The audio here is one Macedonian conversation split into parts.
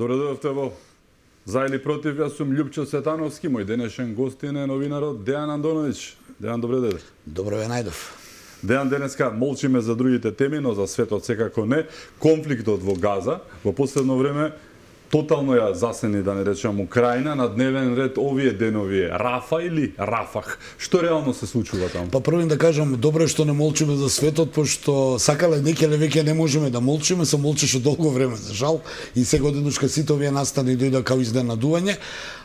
Добре дојдовте во За или против, јас сум Љупчо Светановски, мој денешен гостин е новинарот Дејан Андоновиќ. Дејан, добре дојде. Добро ве најдов. Дејан, денеска молчиме за другите теми, но за светот секако не. Конфликтот во Газа во последно време тотално ја засени, да не речам, Украина, на дневен ред овие денови Рафа или Рафах. Што реално се случува таму? Па првин да кажам, добро е што не молчиме за светот, пошто сакале некеле веќе не можеме да молчиме, се молчеше долго време, за жал, и сега денушка сите овие настани дојда као изненадување,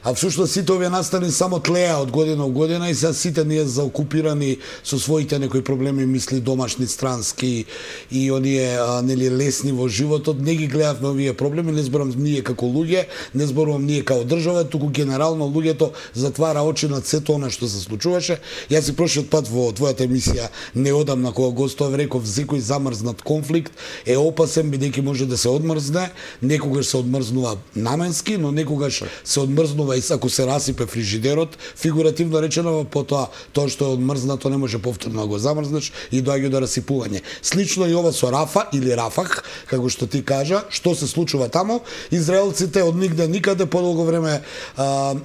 а всушност сите овие настани само тлеа од година во година и сега сите ние заокупирани со своите некои проблеми, мисли домашни, странски и оние нели лесни во животот, не ги гледавме овие проблеми, не зборам ние како луѓе, не зборувам ние како држава, туку генерално луѓето затвара очи над сето она што се случуваше. Јас си прошлиот пат во твојата емисија неодамна кога гостував реков секој замрзнат конфликт е опасен бидејќи може да се одмрзне, некогаш се одмрзнува наменски, но некогаш се одмрзнува и ако се расипе фрижидерот, фигуративно речено, потоа тоа што е одмрзнато не може повторно да го замрзнеш и доаѓа до расипување. Слично и ова со Рафа или Рафах, како што ти кажа, што се случува таму, израелците од нигде никаде подолго време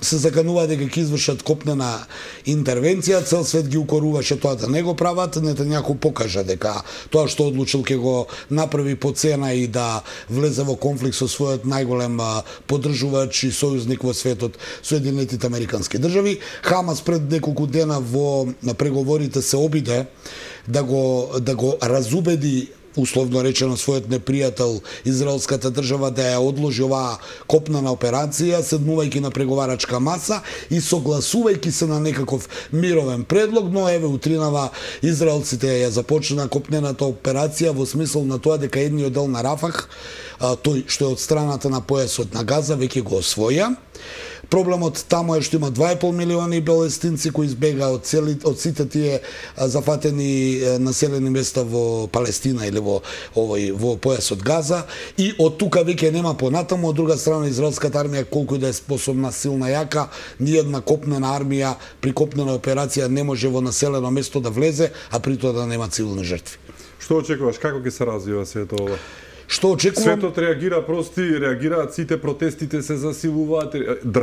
се закануваат дека ќе извршат копнена интервенција, цел свет ги укоруваше тоа да не го прават, Нетањаху покажа дека тоа што одлучил ќе го направи по цена и да влезе во конфликт со својот најголем поддржувач и сојузник во светот, Соединетите Американски држави. Хамас пред неколку дена во преговорите се обиде да го разубеди условно речено својот непријател израелската држава да ја одложи оваа копнена операција, седнувајќи на преговарачка маса и согласувајќи се на некаков мировен предлог, но еве утринава израелците ја започна копнената операција во смисол на тоа дека едниот дел на Рафах, тој што е од страната на појасот на Газа, веќе го освоја. Проблемот таму е што има 2,5 милиони палестинци кои избега од сите тие зафатени населени места во Палестина или во појасот Газа и од тука веќе нема понатаму. Од друга страна израелската армија колку и да е способна, силна, јака, ниедна копнена армија при копнена операција не може во населено место да влезе, а при тоа да нема цивилни жртви. Што очекуваш, како ќе се развива сето ова? Што очекувам? Светот реагира, реагираат сите, протестите се засилуваат,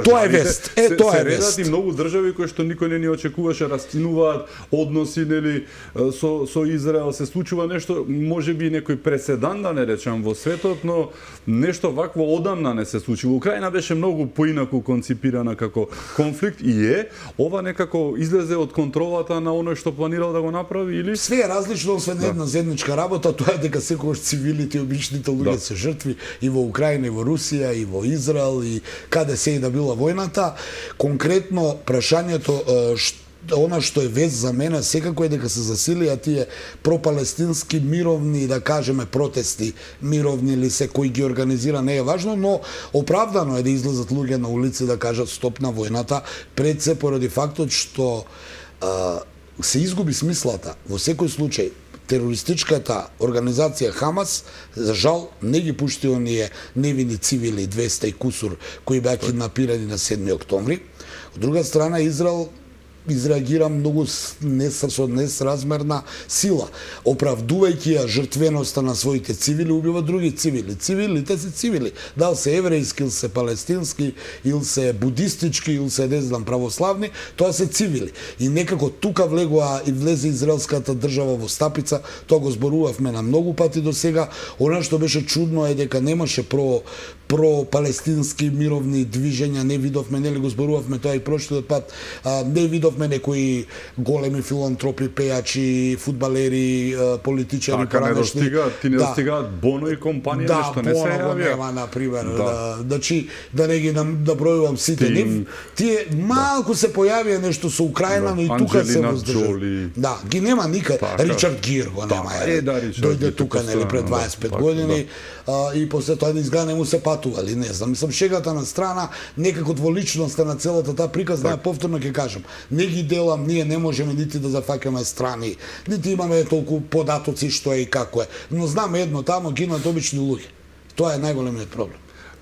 тоа е вест. Тоа е вест. И многу држави кои што никој не ни очекуваше растинуваат односи нели со Израел, се случува нешто, можеби некој преседан да не речам во светот, но нешто вакво одамна не се случило. Украина беше многу поинаку конципирана како конфликт и ова некако излезе од контролата на оној што планирал да го направи или све е различно, освен една заедничка работа, тоа е дека секогаш цивилите и обичните луѓе се жртви и во Украина, и во Русија, и во Израел, и каде се и да била војната. Конкретно прашањето она што е вест за мене секако е дека се засилија тие пропалестински мировни, да кажеме, протести, мировни или се кои ги организира, не е важно, но оправдано е да излезат луѓе на улици да кажат стоп на војната, пред се поради фактот што се изгуби смислата. Во секој случај терористичката организација Хамас, за жал, не ги пушти оние невини цивили 200 и кусур кои беа киднапирани на 7 октомври. Од друга страна, Израел изреагира многу со несразмерна сила, оправдувајќи ја жртвеноста на своите цивили, убива други цивили. Цивилите се цивили, дал се еврејски, или се палестински, или се будистички, или се не знам православни, тоа се цивили. И некако тука влегува и влезе израелската држава во стапица, тоа го зборувавме на многу пати до сега. Она што беше чудно е дека немаше про-палестински мировни движења, не видовме, нели го зборувавме тоа и прошлиот пат, не видовме некои големи филантропи, пејачи, фудбалери, политичари, не достигаат, ти не достигаат Боно и компанија, нешто не се јавија. Нема, например, значи да не ги набројувам сите. Тие малку се појавија нешто со Украина, но и тука се воздржали. Да, ги нема никаде. Ричард Гир го нема. Дојде тука нели пред 25 години и после тоа изгледа не му се патували, не знам. Мислам, шегата на страна, некако дволичноста на целата таа приказна, повторно ќе кажам, не ги делам, ние не можеме нити да зафаќаме страни, нити имаме толку податоци што е и како е. Но знам едно, тамо гинат обични луѓе. Тоа е најголемиот проблем.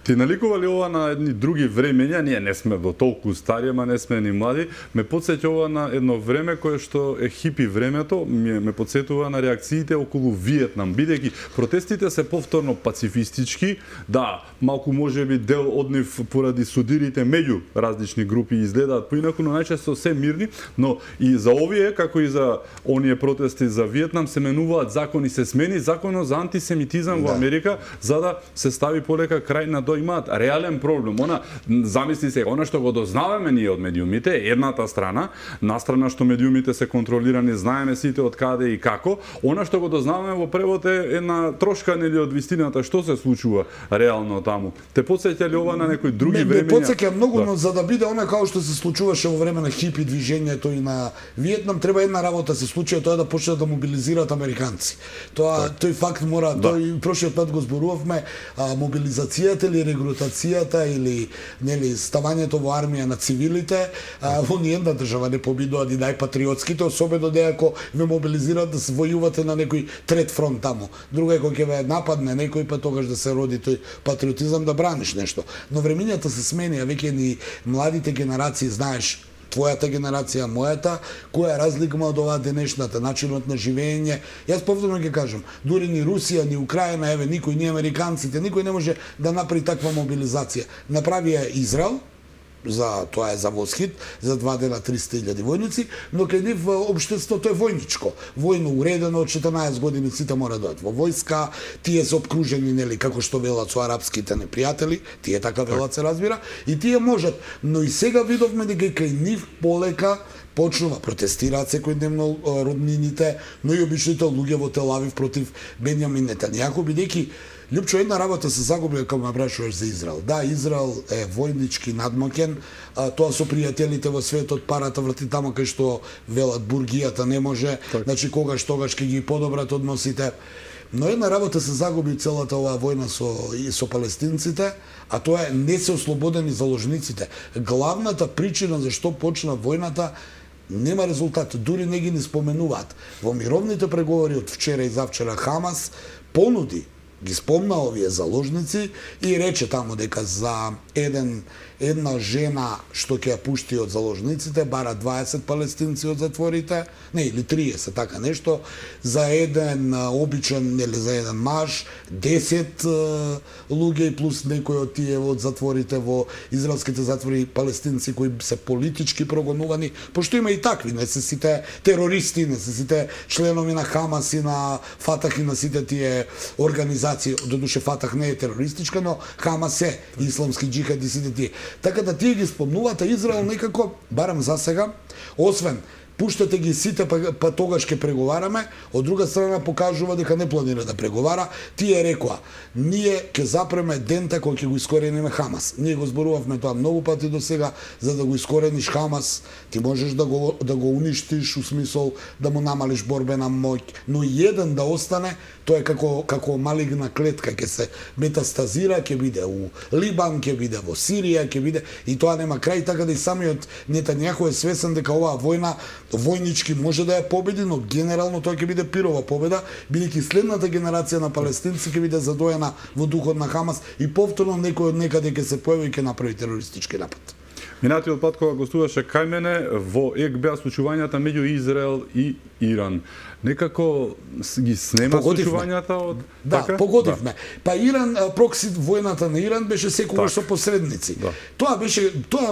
Ти наликували ова на едни други времења, ние не сме до толку стари, ама не сме ни млади, ме потсеќа ова на едно време кое што е хипи времето, ме потсетува на реакциите околу Виетнам, бидејќи протестите се повторно пацифистички, да, малку можеби дел од нив поради судирите меѓу различни групи изгледаат поинаку, но најчесто се мирни, но и за овие, како и за оние протести за Виетнам, се менуваат закони, се смени законот за антисемитизам во Америка, за да се стави полека крај на имаат реален проблем. Она, замисли се, она што го дознаваме ние од медиумите, едната страна, настрана што медиумите се контролирани, знаеме сите од каде и како, она што го дознаваме во превод е една трошка нели од вистината што се случува реално таму. Те потсеќа ли ова на некои други времења? Ме потсеќа многу, но за да биде она како што се случуваше во време на хипи движењето и на Виетнам, треба една работа се случи, тоа да почнат да мобилизираат американци. Тој факт мора, тој прошиот пат го зборувавме, мобилизацијата или регрутацијата или нели ставањето во армија на цивилите, во ниедна држава не победуваат и најпатриотските, особено ако ве мобилизираат да се војувате на некој трет фронт таму. Друга е кога ќе ве нападне некој, па тогаш да се роди тој патриотизам да браниш нешто. Но времењата се сменија, веќе ни младите генерации, знаеш, твојата генерација, мојата, која е разлика од оваа денешната, начинот на живење. Јас повторно ќе кажам, дури ни Русија, ни Украина, еве, никој, ни американците, никој не може да направи таква мобилизација. Направи ја Израел, тоа е за восхит, за 2 дена 300.000 војници, но кај нив општеството е војничко. Војно уредено, од 14 години сите мора да одат во војска, тие се обкружени, нели, како што велат со арапските непријатели, тие така велат се разбира, и тие можат. Но и сега видовме дека кај нив полека почнува, протестираат секојдневно роднините, но и обичните луѓе во Тел Авив против Бенјамин Нетањаху, бидејќи Лјупчо, една работа се загуби кога ме прашуваш за Израел. Да, Израел е војнички надмоќен, тоа со пријателите во светот, парата врати таму кај што велат бургијата не може, значи тогаш ќе ги подобрат односите. Но една работа се загуби целата оваа војна со палестинците, а тоа е не се ослободени заложниците. Главната причина за што почна војната нема резултат, дури не ги споменуваат. Во мировните преговори од вчера и завчера Хамас понуди, ги спомна овие заложници и рече таму дека за една жена што ќе ја пушти од заложниците бара 20 палестинци од затворите, не, или 30, така нешто, за еден обичен, нели, за еден маж, 10 луѓе и плюс некои од тие од затворите во израелските затвори палестинци кои се политички прогонувани, пошто има и такви, не се сите терористи, не се сите членови на Хамас и на Фатах и на сите тие организации, додуше Фатах не е терористичка, но Хамас е исламски џихад и сите тие. Така да тие ги спомнуваат, а Израел некако, барем за сега, освен пуштате ги сите, па тогаш ќе преговараме, од друга страна покажува дека не планира да преговара. Тие рекоа, ние ќе запреме дента кој ќе го искорениме Хамас. Ние го зборувавме тоа многу пати до сега, за да го искорениш Хамас, ти можеш да го уништиш, у смисол да му намалиш борбена моќ, но еден да остане, тоа е како малигна клетка, ќе се метастазира, ќе биде у Либан, ќе биде во Сирија, ќе биде, и тоа нема крај, така да и самиот Нетањаху е свесен дека оваа војна војнички може да ја победи, но генерално тоа ќе биде пирова победа, бидејќи следната генерација на палестинци ќе биде задоена во духот на Хамас и повторно некој од некаде ќе се појави и ќе направи терористички напад. Минатиот пат кога гостуваше кај мене, во ЕК беа случувањата меѓу Израел и Иран. Некако ги снема случувањата од... Да, така? Погодивме. Па Иран, прокси војната на Иран беше секогаш со посредници. Да. Тоа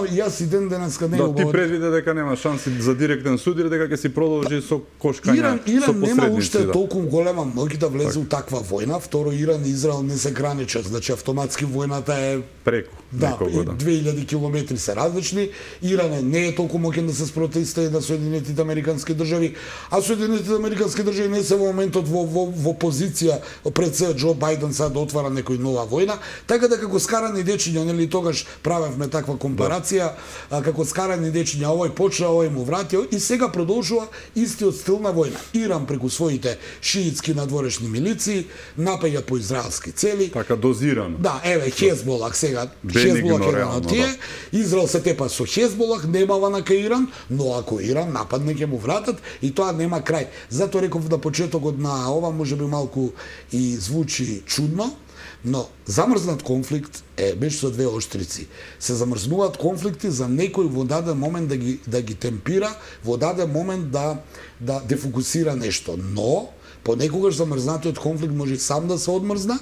јас и ден денеска не го... Да, ти предвиде дека нема шанси за директен суд или дека ќе си продолжи со кошкања, со посредници. Иран нема уште толку голема моќ да влезе у таква војна. Второ, Иран и Израел не се граничат, значи автоматски војната е преку. Да, 2000 километри се различни. Иран не е толку моќен да се спротивстави на Соединетите американски држави, а Соединетите американски држави не се во моментот во позиција пред се Џо Бајден сега да отвара некој нова војна, така да како скарани дечиња, нели тогаш правевме таква компарација, како скарани дечиња, овој почна, овој му врати и сега продолжува истиот стил на војна. Иран преку своите шиитски надворешни милиции напаѓа по израелски цели. Така дозирано. Да, еве Хезболах сега, Хезболах е на тие, Израел се тепа со Хезболах, немава на кај Иран, но ако Иран нападне ќе му вратат и тоа нема крај. Затоа реков на почетокот на ова можеби малку и звучи чудно, Но замрзнат конфликт беше со двеоштрици. Се замрзнуваат конфликти за некој во даден момент да ги темпира, во даден момент да дефокусира нешто. Но понекогаш замрзнатиот конфликт може сам да се одмрзна,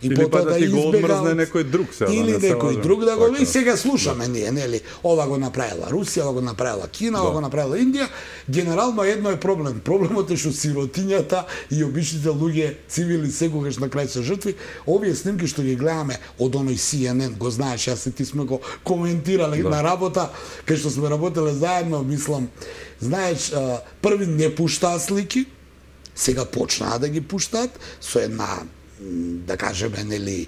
и или потоа да ти го одмрзне некој друг сега. Или да некој друг да го... И сега слушаме ние, нели? Ова го направила Русија, ова го направила Кина, ова го направила Индија. Генерално едно е проблем. Проблемот е што сиротињата и обичните луѓе, цивили, секогаш на крај се жртви. Овие снимки што ги гледаме од оној CNN, го знаеш, јас и ти сме го коментирале на работа, кај што сме работеле заедно, мислам, знаеш, први не пуштаа слики, сега почнаа да ги пуштаат со една, да кажеме, нели,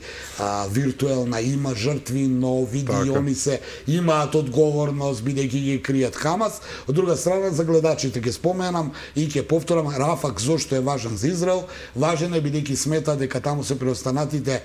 виртуелна, има жртви, но види и они се имаат одговорност бидејќи ги кријат Хамас. Од друга страна, за гледачите ќе споменам и ќе повторам, Рафак зошто е важен за Израел? Важен е бидејќи смета дека таму се преостанатите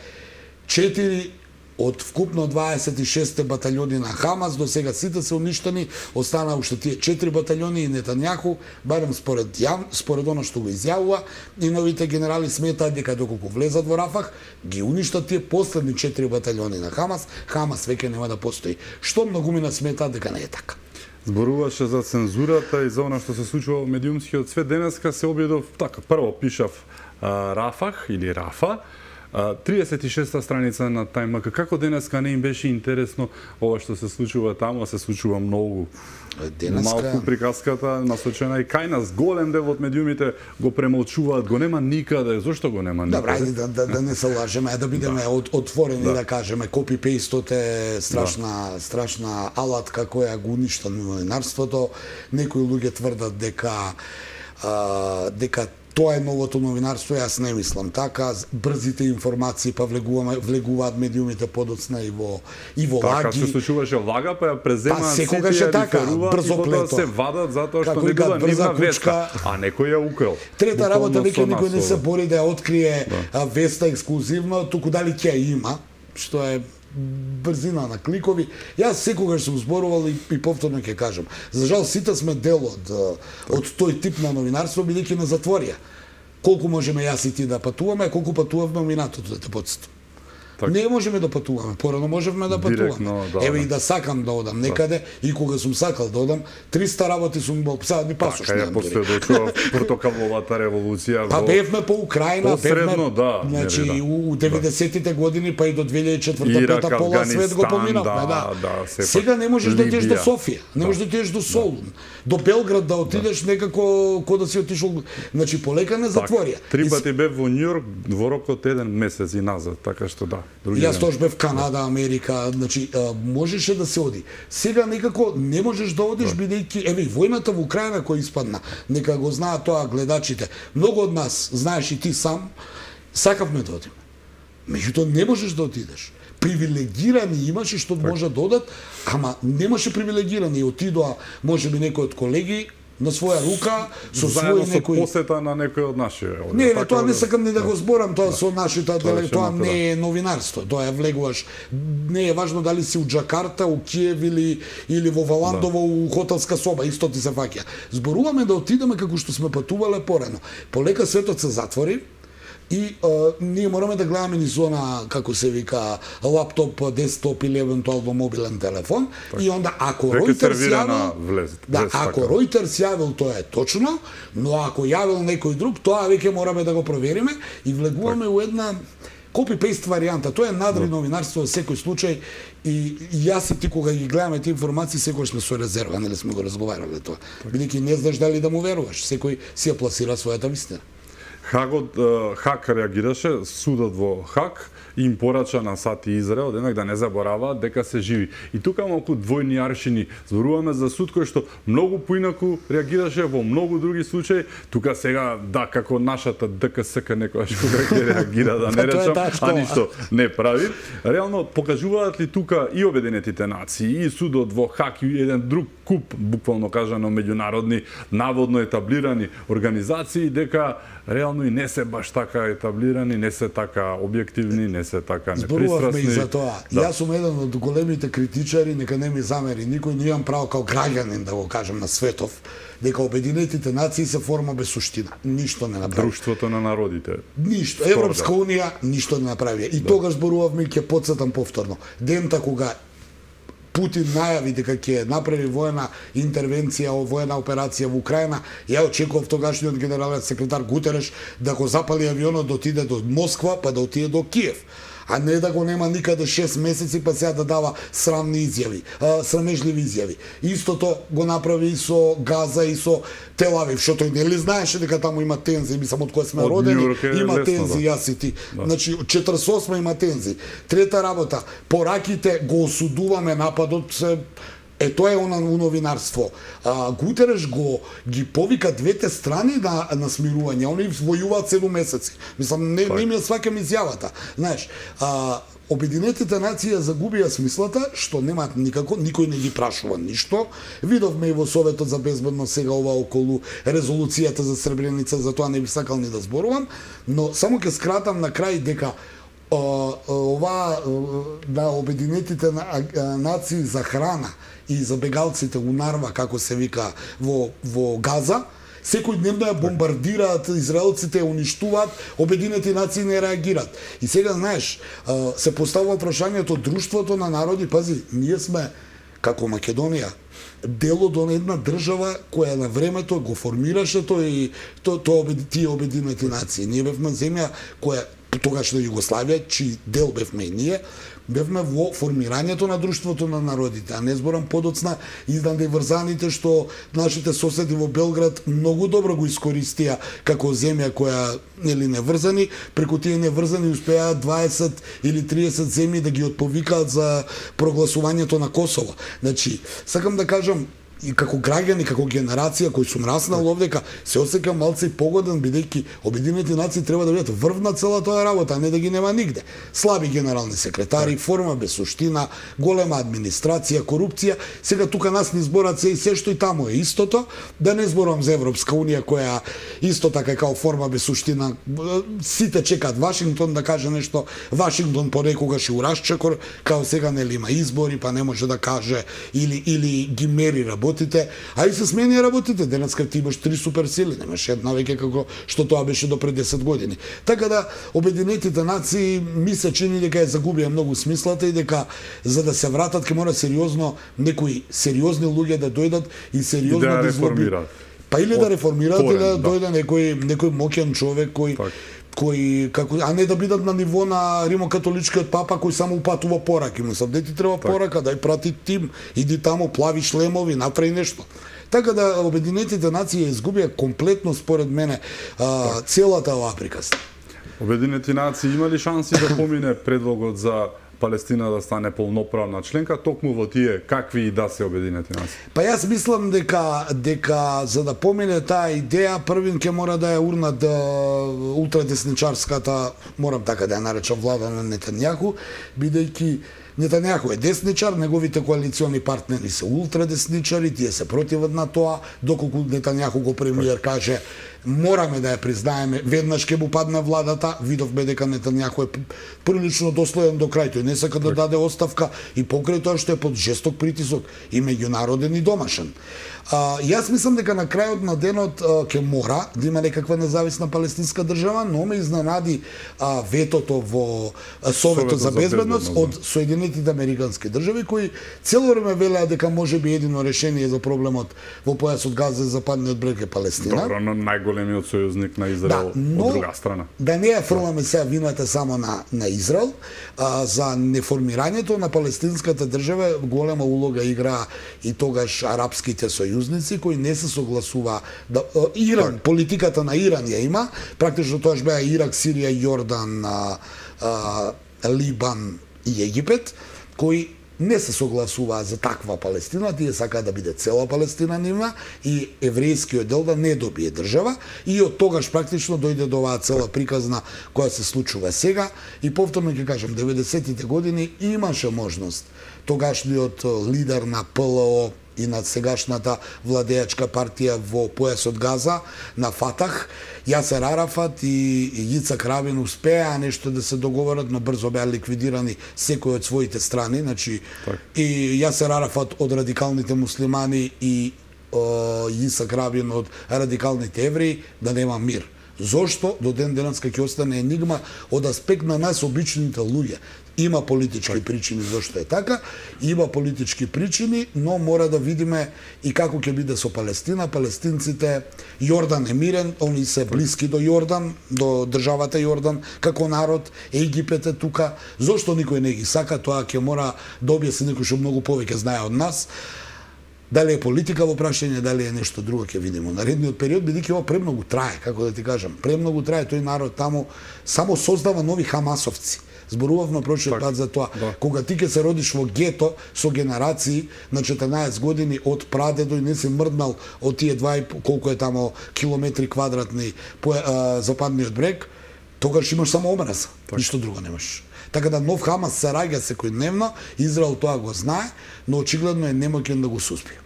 4 од вкупно 26 батальони на Хамас, до сега сите се уништени, останаа уште тие 4 батальони и Нетањаху, барем според оно што го изјавува, и новите генерали сметаат дека доколку влезат во Рафах, ги уништат тие последни 4 батальони на Хамас, Хамас веќе нема да постои. Што многумина сметаат дека не е така. Зборуваше за цензурата и за она што се случува во медиумскиот свет. Денеска се обидов така, прво пишав Рафах или Рафа, 36-та страница на Тајмак. Како денеска не им беше интересно ова што се случува таму, се случува многу. Малку приказката насочена и кај нас, голем дел од медиумите го премолчуваат, го нема никаде. Зошто го нема никаде? Добра, ајде да не се лажеме, да бидеме отворени, да кажеме, копи-пейстот е страшна алатка која го уништа новинарството. Некои луѓе тврдат дека тоа е новото новинарство, јас не мислам така. Брзите информации па влегуваат медиумите подоцна и во лаги. Така се случуваше лага, па ја преземаат сите, ја реферуваат и потоа се вадат затоа што не била нивна веста, а некој ја украл. Трета работа, веќе никој не се бори да ја открие веста ексклузивно, туку дали ќе ја има, што е брзина на кликови. Јас секогаш сум зборувал и повторно ќе кажам. За жал сите сме дел од тој тип на новинарство, бидејќи на затворија. Колку можеме јас и ти да патуваме, колку патувавме минатото, да те потстам. Не можеме да патуваме, порано можевме да патуваме. Еве и да сакам да одам некаде, и кога сум сакал да одам, 300 работи сум имал, сега ни пасош немам. Така е последочува портокаловата револуција. Па бевме по Украина, посредно, да. Значи, у 90-тите години, па и до 2004-та пола свет го поминавме, да. Сега не можеш да отидеш до Софија, не можеш да отидеш до Солун, до Белград да отидеш некако кога да си отишол, значи полека не затворија. 3 пати бев во Њујорк во рок од 1 месец и назад, така што да. Јас тоаш бев Канада, Америка, значи можеше да се оди. Сега некако не можеш да одиш бидејќи еве војната во Украина која испадна. Нека го знаат тоа гледачите. Многу од нас, знаеш и ти сам, сакавме да одиме. Меѓутоа не можеш да отидеш. Привилегирани имаше што може да одат, ама немаше привилегирани. Отидоа можеби некој од колеги на своја рука, со свој некој посета на некој од нашите. Не, тоа не сакам ни да го зборам, тоа со нашите, тоа не е новинарство, тоа е влегуваш. Не е важно дали си у Џакарта, у Киев или во Валандово у хотелска соба, исто ти се фаќа. Зборуваме да отидеме како што сме патувале порано. Полека светот се затвори. И ние мораме да гледаме низ она, како се вика, лаптоп, десктоп или евентуално мобилен телефон. И онда, ако Reuters јавил, ако Reuters јавил, тоа е точно, но ако јавил некој друг, тоа веќе мораме да го провериме и влегуваме у една копи-пейст варијанта. Тоа е надри новинарство во секој случај и јас и ти кога ги гледаме тие информации, секој сме со резерва, нели сме го разговарале тоа. Бидејќи не знаеш дали да му веруваш, секој си ја пласира својата вистина. Хак реагираше, судот во Хак им порача на САД и Израел денак да не забораваат дека се живи. И тука малку двојни аршини. Зборуваме за суд кој што многу поинаку реагираше во многу други случаи. Тука сега, да, како нашата ДКСК некојаш кога ќе реагира, да не речам, а ништо не прави. Реално, покажуваат ли тука и Обединетите нации, и судот во Хак, и еден друг куп, буквално кажано, меѓународни, наводно етаблирани организации, дека реално и не се баш така етаблирани, не се така објективни, не не се така Зборувавме и непристрасни. за тоа. Јас сум еден од големите критичари, нека не ми замери никој, не имам право као граѓанин да го кажам на светов, дека Обединетите нации се форма без суштина. Ништо не направи. Друштвото на народите. Ништо. Европска унија ништо не направи. И тогаш зборувавме, ќе потсетам повторно. Дента кога Путин најави дека ќе направи воена интервенција, воена операција во Украина, ја очекував тогашниот генерален секретар Гутереш да го запали авионот, да отиде до Москва, па да отиде до Киев. А не да го нема никаде 6 месеци, па сега да дава срамни изјави, срамежливи изјави. Истото го направи и со Газа и со Тел-Авив, што тој нели знаеше дека таму има тензии, мислам од кога сме родени, има тензии, јас и ти. Значи, 48 има тензии. Трета работа, пораките го осудуваме нападот, тоа е новинарство. Гутереш ги повика двете страни на смирување. Они војуваат 7 месеци. Мислам, не ми сваќам изјавата. Знаеш, Обединетите нации загубија смислата, што немаат никако, никој не ги прашува ништо. Видовме и во Советот за безбедност сега ова околу резолуцијата за Сребреница, за тоа не би сакал ни да зборувам, но само ќе скратам на крај дека ова на Обединетите нации за храна и за бегалците унарва, како се вика, во Газа, секој дневно ја бомбардираат, израелците ја уништуваат, Обединети нации не реагираат. И сега, знаеш, се поставува прашањето друштвото на народи, пази, ние сме, како Македонија, дел од една држава која на времето го формираше тие Обединети нации. Ние бевме земја која тогаш на Југославија, чиј дел бевме и ние, бевме во формирањето на друштвото на народите, а не зборам подоцна изданде врзаните што нашите соседи во Белград многу добро го искористија како земја која нели неврзани, преку тие неврзани успеа 20 или 30 земји да ги отповикаат за прогласувањето на Косово. Значи, сакам да кажам, и како граѓани, како генерација кој сум раснал овдека, се осеќам малце погоден, бидејќи Обединети нации треба да бидат врв на цела тоа работа, а не да ги нема нигде. Слаби генерални секретари, форма без суштина, голема администрација, корупција. Сега тука нас ни зборат се што и таму е истото. Да не зборам за Европска унија која исто така као форма без суштина. Сите чекаат Вашингтон да каже нешто. Вашингтон понекогаш и урасчекор, као сега нели има избори, па не може да каже или ги мери работите, а и се смени работите. Денеска ти имаш 3 суперсили, немаш една веќе како што тоа беше до пред 10 години. Така да Обединетите нации ми се чини дека ја загубија многу смислата и дека за да се вратат ќе мора сериозно некои сериозни луѓе да дојдат и сериозно да реформираат. Па или да реформираат или да дојде некој моќен човек кој како, а не да бидат на ниво на римокатоличкиот папа кој само упатува пораки. Мислам, де ти треба порака, дај прати тим, иди таму, плави шлемови, направи нешто. Така да Обединетите нации изгубија комплетно според мене целата оваа приказна. Обединети нации има ли шанси да помине предлогот за Палестина да стане полноправна членка, токму во тие какви и да се Обединети нации? Па јас мислам дека за да помине таа идеја, првин ќе мора да ја урнат ултрадесничарската, морам така да ја наречам, влада на Нетањаху, бидејќи Нетањаху е десничар, неговите коалициони партнери се ултрадесничари, тие се противат на тоа, доколку Нетањаху го премиер каже мораме да ја признаеме, веднаш ќе му падне владата, видовме дека Нетањаху е прилично доследен до крај, тој не сака да даде оставка и покрај тоа што е под жесток притисок и меѓународен и домашен. Јас мислам дека на крајот на денот ќе мора да има некаква независна палестинска држава, но ме изненади ветото во Советот за безбедност од Соединетите Американски држави кои цело време велеа дека можеби едино решение за проблемот во појасот Газа и западниот брег е Палестина. Добро, но најголемиот сојузник на Израел од друга страна. Да не ја фрламе сега вината само на Израел, за неформирањето на палестинската држава голема улога игра и тогаш арапските сојузници кои не се согласува да Иран, политиката на Иран ја има, практично тоаш беа Ирак, Сирија, Јордан, Либан и Египет, кои не се согласуваа за таква Палестина, тие сакаат да биде цела Палестина нивна и еврејскиот дел да не добие држава и од тогаш практично дојде до оваа цела приказна која се случува сега и повторно ќе кажам 90-тите години имаше можност тогашниот лидер на ПЛО и на сегашната владеачка партија во појасот Газа, на Фатах. Јасер Арафат и Јицак Рабин успеа нешто да се договорат, но брзо беа ликвидирани секој од своите страни, значи и Јасер Арафат од радикалните муслимани и Јицак Рабин од радикалните евреи, да нема мир. Зошто до ден денеска ќе остане енигма од аспект на нас обичните луѓе. Има политички причини зашто е така, има политички причини, но мора да видиме и како ќе биде со Палестина. Палестинците, Јордан е мирен, они се блиски до Јордан, до државата Јордан како народ, Египет е тука. Зошто никој не ги сака, тоа ќе мора да објасни некој што многу повеќе знае од нас. Дали е политика во прашање, дали е нешто друго, ќе видиме. Наредниот период, бидејќи ова премногу трае, како да ти кажам, премногу трае, тој народ таму само создава нови хамасовци. Зборувавме прочиот пат за тоа. Да. Кога ти ќе се родиш во гето со генерации на 14 години од прадедо и не си мрднал од тие 2 колку е тамо километри квадратни по западниот брег, тогаш имаш само омраза, ништо друго немаш. Така да нов Хамас се раѓа секојдневно, Израел тоа го знае, но очигледно е немоќен да го суспие.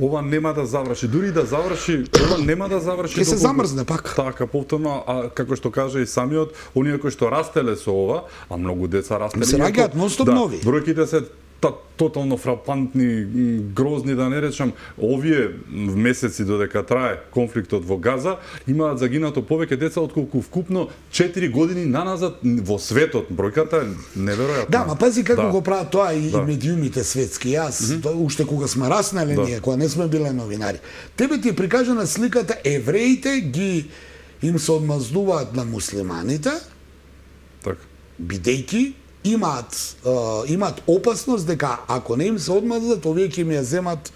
Ова нема да заврши, дури да заврши, ова нема да заврши. Ќе се замрзне пак. Така, повторно, а како што каже и самиот, оние кои што растеле со ова, а многу деца растеле. Се раѓаат ностоп нови. Бројките се тотално фрапантни, грозни, да не речам. Овие месеци додека трае конфликтот во Газа, имаат загинато повеќе деца отколку вкупно 4 години наназад во светот. Бројката е неверојатна. Да, ма пази како го прават тоа и медиумите светски. Јас, уште кога сме раснали ние, кога не сме биле новинари. Тебе ти е прикажана сликата, евреите им се одмаздуваат на муслиманите, така, бидејќи имаат опасност дека ако не им се одмаздат, овие ќе им ја земат,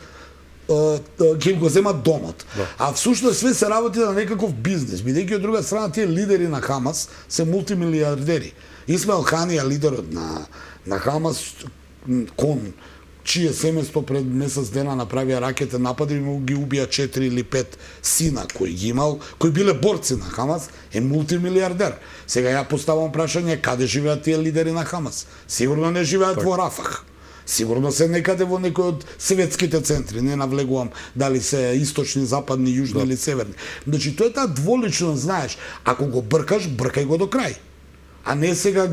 ќе им го земат домот. А всушност све се работи на некаков бизнес, бидејќи од друга страна тие лидери на Хамас се мултимилиардери. Исмаел Ханија, лидерот на Хамас, кон чие семејство пред месец дена направија ракетен напад и ги убија 4 или 5 сина кои ги имал, кои биле борци на Хамас, е мултимилиардер. Сега ја поставам прашање, каде живеат тие лидери на Хамас? Сигурно не живеат во Рафах. Сигурно се некаде во некој од светските центри, не навлегувам дали се источни, западни, јужни или северни. Значи, тоа е таа дволичност, знаеш, ако го бркаш, бркај го до крај. А не сега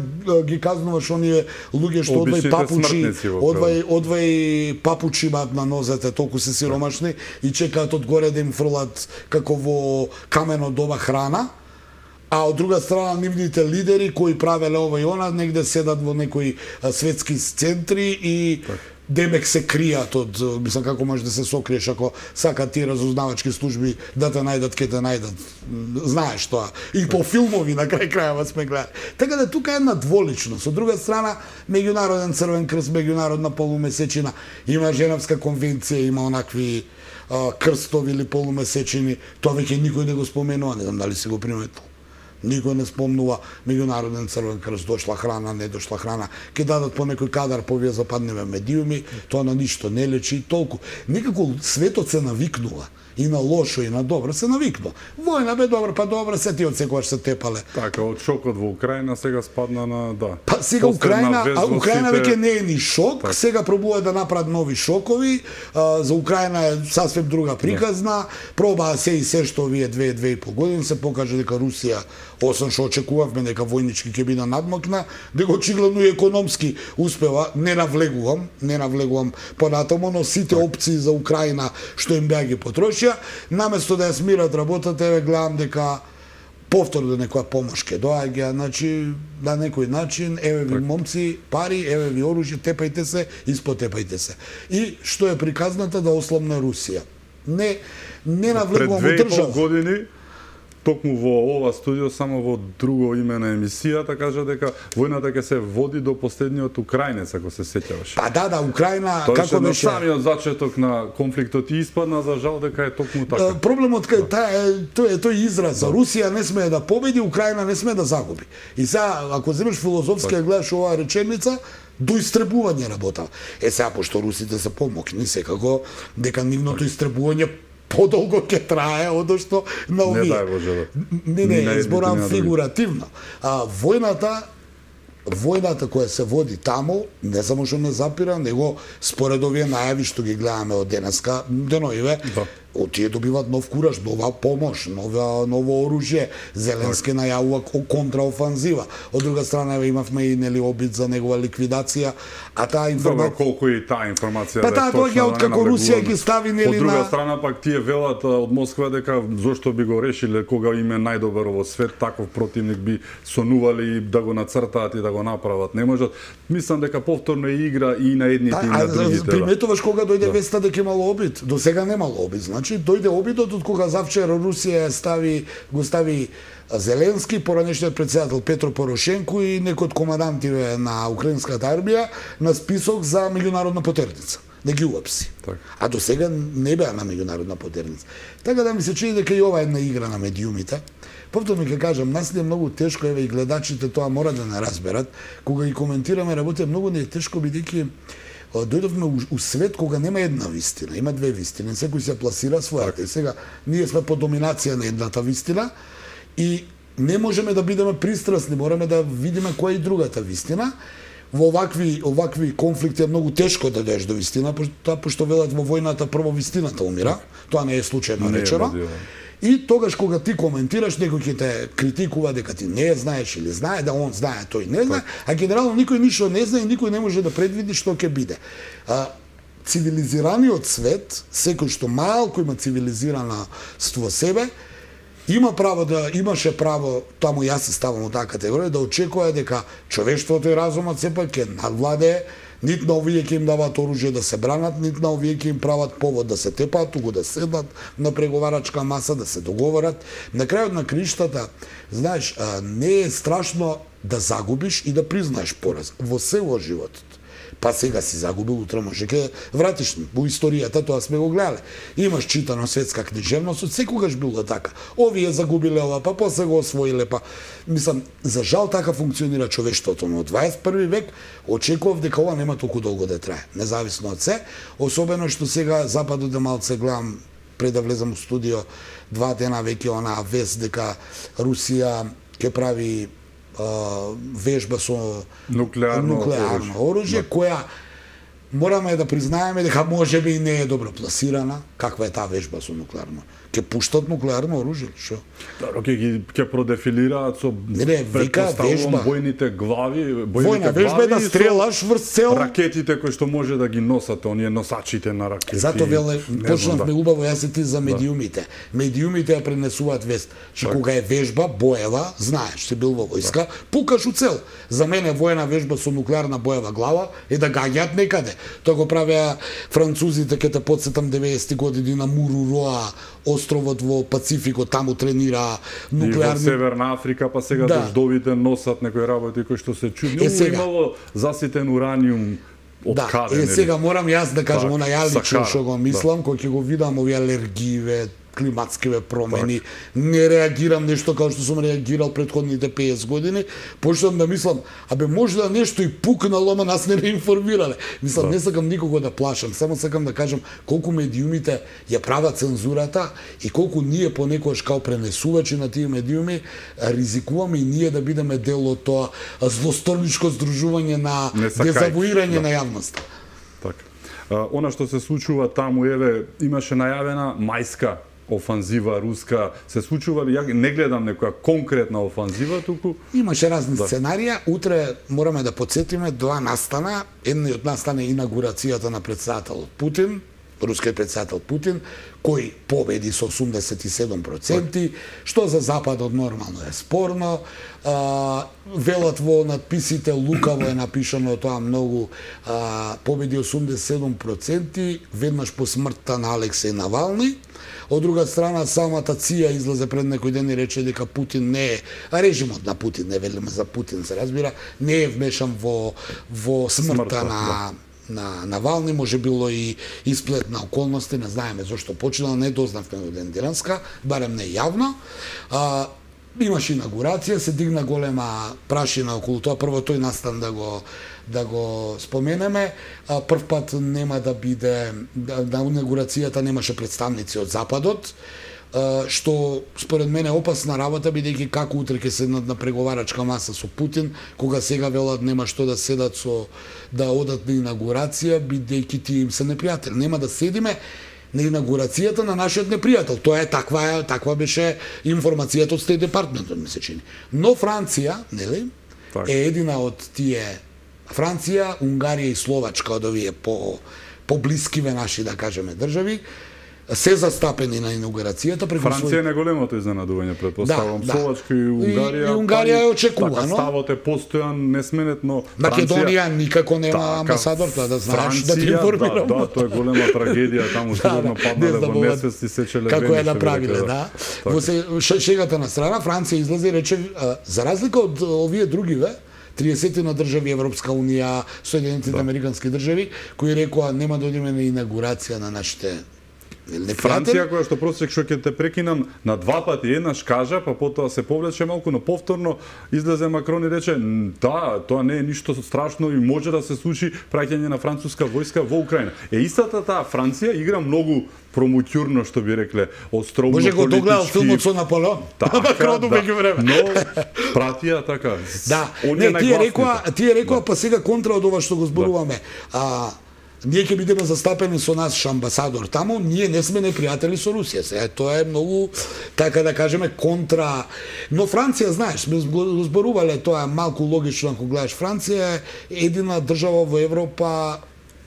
ги казнуваш оние луѓе што одвај папучи имаат на нозете, толку се сиромашни и чекаат одгоре да им фрлат како во камено доба храна, а од друга страна нивните лидери кои правеле ова и она негде седат во некои светски центри и демек се кријат од, мислам, како може да се сокриеш ако сакат тие разузнавачки служби да те најдат, ке те најдат. Знаеш тоа. И по филмови на крај крајава сме гледали. Така да тука е една дволичност. Од друга страна, Меѓународен Црвен крст, меѓународна полумесечина, има Женевска конвенција, има онакви крстови или полумесечини, тоа веќе никој не го споменува, не знам дали си го приметил. Никој не спомнува Меѓународен Црвен крст, дошла храна, не дошла храна. Ке дадат по некој кадар по овие западниве медиуми, тоа на ништо не лечи и толку. Некако светот се навикнува. И на лошо и на добро се навикнува. Војна бе добро, па добро, се ти од секогаш се тепале. Така, од шокот во Украина сега спадна на, да. Па сега Украина веќе не е ни шок, так. Сега пробува да направат нови шокови, за Украина е сасвем друга приказна, пробаа се и се што овие 2,5 години се покаже дека Русија, освен што очекувавме дека војнички ќе биде надмокна, дека очигледно и економски успева, не навлегувам понатаму, но сите опции за Украина што им беа ги потрошија, наместо да ја смират работата, еве гледам дека повторно некоја помош ке доаѓа, значи на некој начин, еве ви момци пари, еве ви оружје, тепајте се, испотепајте се. И што е приказната да ослабне Русија. Не навлегувам во држава. Пред 2,5 години токму во ова студио, само во друго име на емисијата, кажа дека војната ќе се води до последниот украинец, ако се сеќаваш. Па да, Украина, тоа како беше... Тоа самиот зачеток на конфликтот и испадна, за жал, дека е токму така. Проблемот е тој израз. Русија не смее да победи, Украина не смее да загуби. И сега, ако земеш филозофски, гледаш оваа реченица, до истребување работа. Сега, пошто русите се помокни, секако, дека нивното истребување подолго ќе трае одошто на овие. Не дај Боже. Не, зборам фигуративно. Војната војната која се води таму, не само што не запира, него според овие најави што ги гледаме од денеска, деноиве, тие добиваат нов кураж, нова помош, ново оружје. Зеленски најавува контраофанзива. Од друга страна имавме и нели обид за негова ликвидација, а таа информација колку и таа информација па таа доаѓа од како Русија ги стави нели на. Од друга на страна пак тие велат од Москва дека зошто би го решиле кога им е најдобар во свет, таков противник би сонували да го нацртаат и да го направат. Не можат. Мислам дека повторно е игра и на едните и на другите. Приметуваш кога дојде веста дека имало обид, до сега немало обид. Значи дојде обидот од кога завчера Русија го стави Зеленски, поранешниот председател Петро Порошенко и некои од командантиве на украинската армија на список за меѓународна потерница. Да ги уапси. А до сега не беа на меѓународна потерница. Така да ми се чини дека и ова е една игра на медиумите. Повторно ќе кажам, нас не е многу тешко, еве и гледачите тоа мора да не разберат, кога ги коментираме работите, многу не е тешко бидејќи дојдовме у свет кога нема една вистина, има две вистини, секој се пласира својата. И сега ние сме по доминација на едната вистина и не можеме да бидеме пристрасни, мораме да видиме која е и другата вистина. Во овакви конфликти е многу тешко да дојдеш до вистина, пошто велат во војната прво вистината умира. Тоа не е случајно речено. И тогаш кога ти коментираш, некој ќе те критикува дека ти не знаеш или знае, да он знае, тој не знае, а генерално никој ништо не знае и никој не може да предвиди што ќе биде. Цивилизираниот свет, секој што малку има цивилизираност во себе, имаше право, таму јас се ставам во таа категорија, да очекува дека човештвото и разумот сепак ќе надвладее. Нит на овие ќе им даваат оружје да се бранат, нит на овие ќе им прават повод да се тепаат, туку да седнат на преговарачка маса, да се договорат. На крајот на криштата, знаеш, не е страшно да загубиш и да признаеш пораз во се во животот. Па сега си загубил, утре може ќе вратиш. Во историјата тоа сме го гледале. Имаш читано светска книжевност, од секогаш било така. Овие загубиле ова, па после го освоиле, па мислам, за жал така функционира човештвото, но од 21 век очекував дека ова нема толку долго да трае, независно од се, особено што сега западот малце гледам пред да влезам у студио 2 дена веќе онаа вест дека Русија ќе прави вежба со нуклеарно оружје, која мораме да признаеме дека можеби и не е добро пласирана. Каква е таа вежба со нуклеарно? Ќе пуштат нуклеарно оружје, што? Ќе продефилираат со вежба, бојните глави, војна вежба е да стрелаш врз цел ракетите кои што може да ги носат, оние носачите на ракети. Зато почнавме убаво јас и ти за медиумите. Медиумите ја пренесуваат вест, че кога е вежба боева, знаеш, си бил во војска, пукаш у цел. За мене војна вежба со нуклеарна боева глава е да гаѓаат некаде. Тоа го правеа французите, ќе те потсетам 90-ти години на Муруроа, островот во Пацификот, таму тренира нуклеарни. И во Северна Африка, па сега дождовите носат некои работи кои што се чудни. Имало заситен ураниум од каде. Сега морам јас да кажам, она ја лично што го мислам, кој ќе го видам овие алергиве, климатскиве промени, не реагирам нешто како што сум реагирал претходните 50 години, почнам да мислам, може да нешто и пукнало, ама нас не информирале. Мислам, не сакам никого да плашам, само сакам да кажам колку медиумите ја прават цензурата и колку ние понекогаш као пренесувачи на тие медиуми ризикуваме и ние да бидеме дел од тоа злосторничко здружување на дезавуирање на јавноста. Така. Она што се случува таму, еве, имаше најавена мајска офанзива руска, се случува ли? Ја не гледам некоја конкретна офанзива туку. Имаше разни сценарија. Утре мораме да потсетиме два настана. Едниот настан е инаугурацијата на председателот Путин, рускиот председател Путин, кој победи со 87%, што за Западот нормално е спорно. Велат во надписите, лукаво е напишано тоа многу, победи 87%, веднаш по смртта на Алексеј Навални. Од друга страна, самата ЦИА излезе пред некој ден и рече дека Путин не е, режимот на Путин, не велиме за Путин, се разбира, не е вмешан во смртта на Навални, може било и исплет на околности, не знаеме зошто починал, не дознавме од ден денеска, барем не јавно. Имаше инаугурација, се дигна голема прашина околу тоа, прво тој настан да го споменеме. Прв пат нема да биде, на инаугурацијата немаше представници од Западот. што според мене опасна работа, бидејќи како утре ќе седнат на преговарачка маса со Путин, кога сега велат нема што да седат да одат на инаугурација, бидејќи тие им се непријатели. Нема да седиме на инаугурацијата на нашиот непријател. Тоа е таква беше информацијата од Стейт Департментот, ми се чини. Но Франција, нели, е едина од тие, Франција, Унгарија и Словачка од овие поблискиве наши, да кажеме, држави, се застапени на инаугурацијата преку Франција е неголемото изненадување, претпоставувам. Словачка и Унгарија. И Унгарија е очекувано. Така, ставот е постојан, несменетно. Македонија никако нема амбасадор, тоа да знаеш, да ти информирам. Да, тоа е голема трагедија, таму сигурно паднале во несвест и сечеле вени. Како е направиле, да. Во шегата на страна, Франција излезе и рече, за разлика од овие другиве, 30 на држави Европска унија, Соединетите американски држави, кои рекоа нема да одиме на инаугурација на нашите Франција, која што просек што ќе те прекинам, на два пати еднаш кажа, па потоа се повлече малку, но повторно излезе Макрон и рече, да, тоа не е ништо страшно и може да се случи праќање на француска војска во Украина. Истата таа Франција игра многу промутјурно, што би рекле, островно политички. Може го догледал филмот со Наполеон. Макрону меѓу време. Но пратија така. Да, не, тие рекоа, па сега контра од ова што го зборуваме. Ние ќе бидеме застапени со наш амбасадор таму, ние не сме непријатели со Русија. Сега тоа е многу, така да кажеме, контра. Но Франција, знаеш, сме зборувале, тоа е малку логично ако гледаш. Франција е едина држава во Европа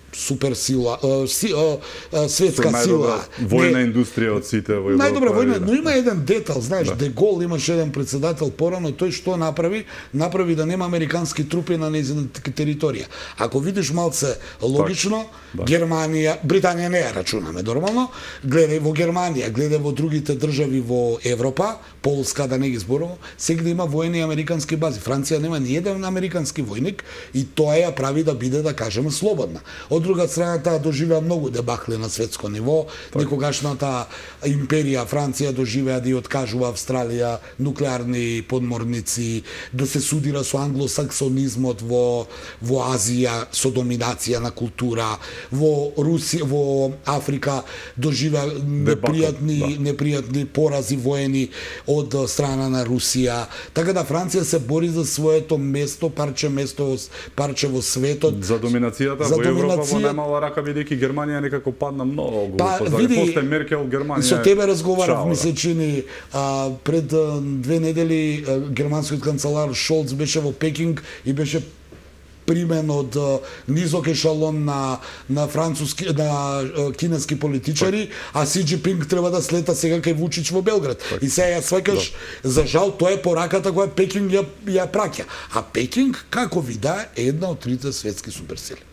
суперсила, светска сила. Војна индустрија од сите во Европа. Најдобра војна, но има еден детал, знаеш, Де Гол имаше еден председател порано, тој што направи? Направи да нема американски трупи на нејзината територија. Ако видиш малце логично, Германија, Британија не ја рачунаме нормално, гледај во Германија, гледај во другите држави во Европа, Полска да не ги зборувам, сегде има војни американски бази. Франција нема ни еден американски војник и тоа ја прави да биде, да кажеме, слободна. Од друга страна, таа доживеа многу дебахли на светско ниво. Некогашната империја Франција доживеа да ја откажува Австралија нуклеарни подморници, да се судира со англосаксонизмот во Азија, со доминација на култура, во Русија, во Африка доживеа непријатни порази воени од страна на Русија. Така да Франција се бори за своето место, парче во светот. За доминацијата во Европа во најмала рака, бидејќи Германија некако падна многу. После Меркел Германија. Со тебе разговарав, ми се чини, пред 2 недели германскиот канцелар Шолц беше во Пекинг и беше примен од низок ешалон на кинески политичари, а Си Џинпинг треба да слета сега кај Вучич во Белград. И сега ја сваќаш, за жал, тоа е пораката која Пекинг ја праќа. А Пекинг, како вида, е една од трите светски суперсили.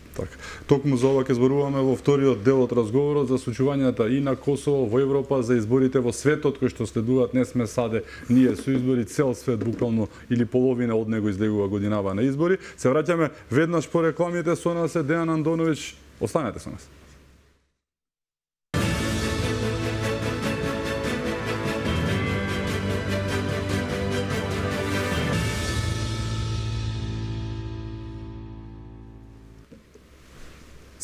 Токму за ова ќе зборуваме во вториот дел од разговорот за случувањата и на Косово, во Европа, за изборите во светот кои што следуваат. Не сме саде ние со избори, цел свет буквално или половина од него излегува годинава на избори. Се враќаме веднаш по рекламите, со нас е Дејан Андоновиќ. Останете со нас.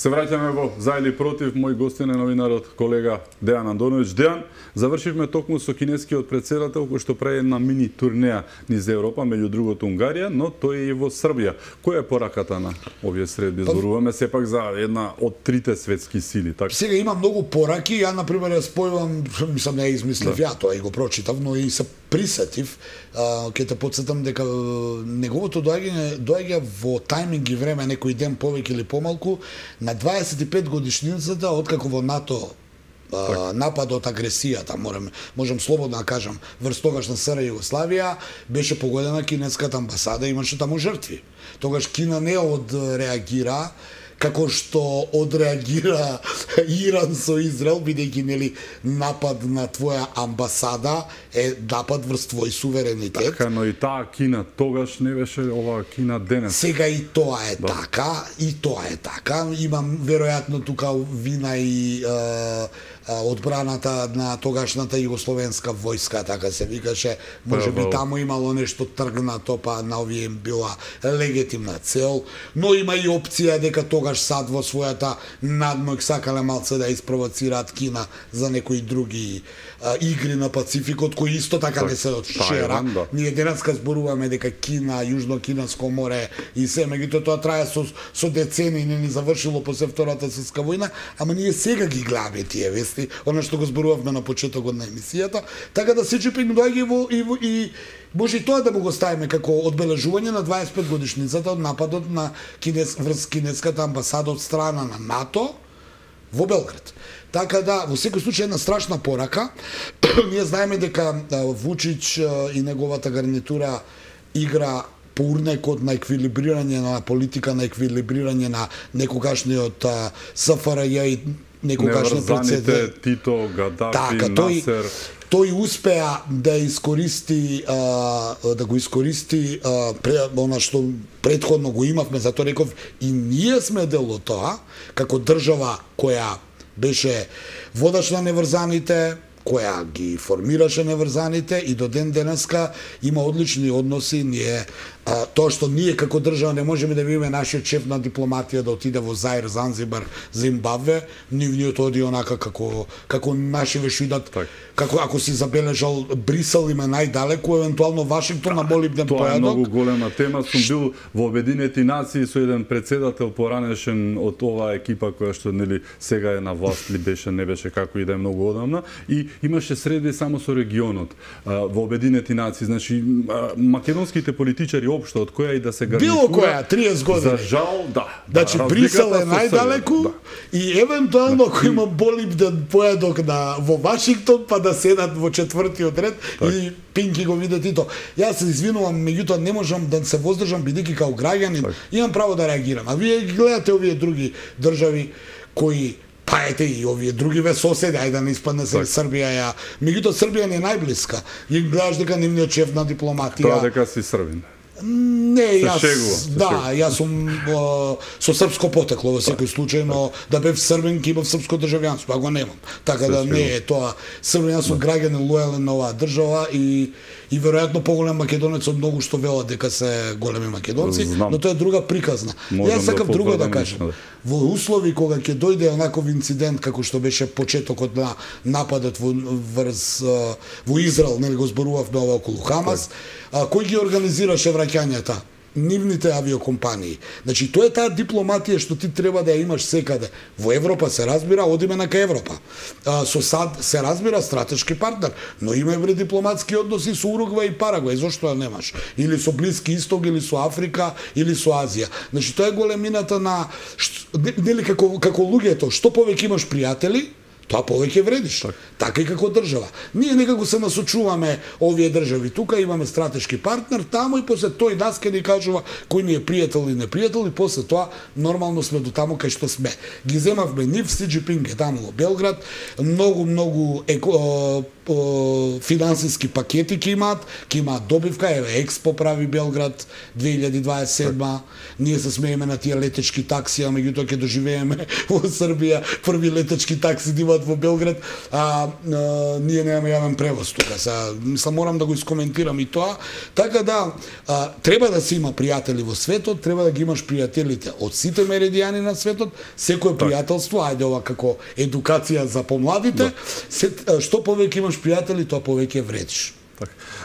Се враќаме во За или против. Мој гостин е новинарот колега Дејан Андоновиќ. Дејан, завршивме токму со кинескиот претседател кој што прави една мини турнеја низ Европа, меѓу другото Унгарија, но тој е и во Србија. Која е пораката на овие средби? Зборуваме сепак за една од трите светски сили, така? Сега има многу пораки, ја на пример ја спојувам, мислам не ја измислив ја тоа и го прочитав, но и се присетив. Ќе те потсетам дека неговото доаѓа во тајминг и време, некој ден повеќе или помалку, на 25 годишницата откако во НАТО нападот, агресијата, можам слободно да кажам, врз тогашна СР Југославија, беше погодена кинеската амбасада, имаше таму жртви. Тогаш Кина не одреагира како што одреагира Иран со Израел, бидејќи нели напад на твоја амбасада е напад врз твој суверенитет. Така, но и таа Кина тогаш не беше ова Кина денес. Сега и тоа е така, и тоа е така. Имам веројатно тука вина и одбраната на тогашната југословенска војска, така се викаше, можеби таму имало нешто тргнато, па на овие им била легитимна цел, но има и опција дека тогаш САД во својата надмојк сакале малце да испровоцираат Кина за некои други игри на Пацификот, кои исто така не се од вчера. Ние денеска зборуваме дека Кина, Јужно-Кинаско море и се, меѓутоа тоа трае со децени, не ни завршило после Втората светска војна, ама ние сега ги гледаме тие вести, она што го зборувавме на почетокот на емисијата, така да Си Џинпинг доаѓа и може и тоа да му го ставиме како одбележување на 25 годишницата од нападот на врз кинеската амбасада од страна на НАТО во Белград. Така да, во секој случај една страшна порака. Ние знаеме дека Вучич и неговата гарнитура игра по урнекот на еквилибрирање на политика, на еквилибрирање на некогашниот СФРЈ и некогашниот прецедент Тито, Гадафи, Насер. Тој успеа да искористи она што претходно го имавме, затоа реков и ние сме дел од тоа, како држава која беше водач на неврзаните, која ги формираше неврзаните и до ден денеска има одлични односи. Ние тоа што ние како држава не можеме да видиме нашиот шеф на дипломатија да отиде во Заир, Занзибар, Зимбабве, нивниот оди онака како наши вешидат, како ако си забележал Брисел има најдалеку, евентуално Вашингтон на молибден поедок. Тоа е многу голема тема. Сум бил во Обединети нации со еден председател поранешен од оваа екипа која што нели сега е на власт, ли беше, не беше, како и да е многу одамна, и имаше среди само со регионот во Обединети нации. Значи македонските политичари општо од која и да се гарнитура. Било која 30 години. За жал, да. Значи Брисел е најдалеку и евентуално ако има молибден поедок во Вашингтон, па да седат во четвртиот ред и Пинки го видат и тоа. Јас се извинувам, меѓутоа не можам да се воздржам бидејќи као граѓанин имам право да реагирам. А вие гледате овие други држави кои па ете и овие другиве соседи, ајде да не испадне се Србија меѓутоа Србија не е најблиска. И гледаш дека нивниот шеф на дипломатија. Тоа дека си србин. Не, јас сум со српско потекло во секој случај, но да бев србин ќе имав српско државјанство, а го немам. Така да не е тоа. Србин, јас сум граѓанин лојален на оваа држава и веројатно поголем македонец од многу што велат дека се големи македонци, но тоа е друга приказна. Јас сакам друго да кажам. Во услови кога ќе дојде онаков инцидент како што беше почетокот на нападот во Израел, нели го зборувавме ова околу Хамас, кој ги организираше враќањата? Нивните авиокомпании. Значи, тоа е таа дипломатија што ти треба да ја имаш секаде. Во Европа се разбира, одиме на кај Европа. Со САД се разбира стратешки партнер, но има и дипломатски односи со Уругвај и Парагвај. Зошто ја немаш? Или со Блиски Исток, или со Африка, или со Азија. Значи, тоа е големината на нели како луѓето, што повеќе имаш пријатели, тоа повеќе вредиш. Така и како држава. Ние некако се насочуваме овие држави. Тука имаме стратешки партнер, таму и после тој нас ке ни кажува кој ни е пријател или непријател и после тоа нормално сме до таму кај што сме. Ги земавме нив, Си Џинпинг е таму во Белград, многу финансиски пакети ќе имаат добивка, еве Експо прави Белград 2027. Ние се смееме на тие летечки такси, а меѓутоа ќе доживееме во Србија први летечки такси да имаат во Белград, ние немаме јавен превоз тука. Мислам, морам да го искоментирам и тоа. Така да, треба да се има пријатели во светот, треба да ги имаш пријателите од сите меридијани на светот, секое пријателство, ајде ова како едукација за помладите, што повеќе имаш пријатели, тоа повеќе вредиш.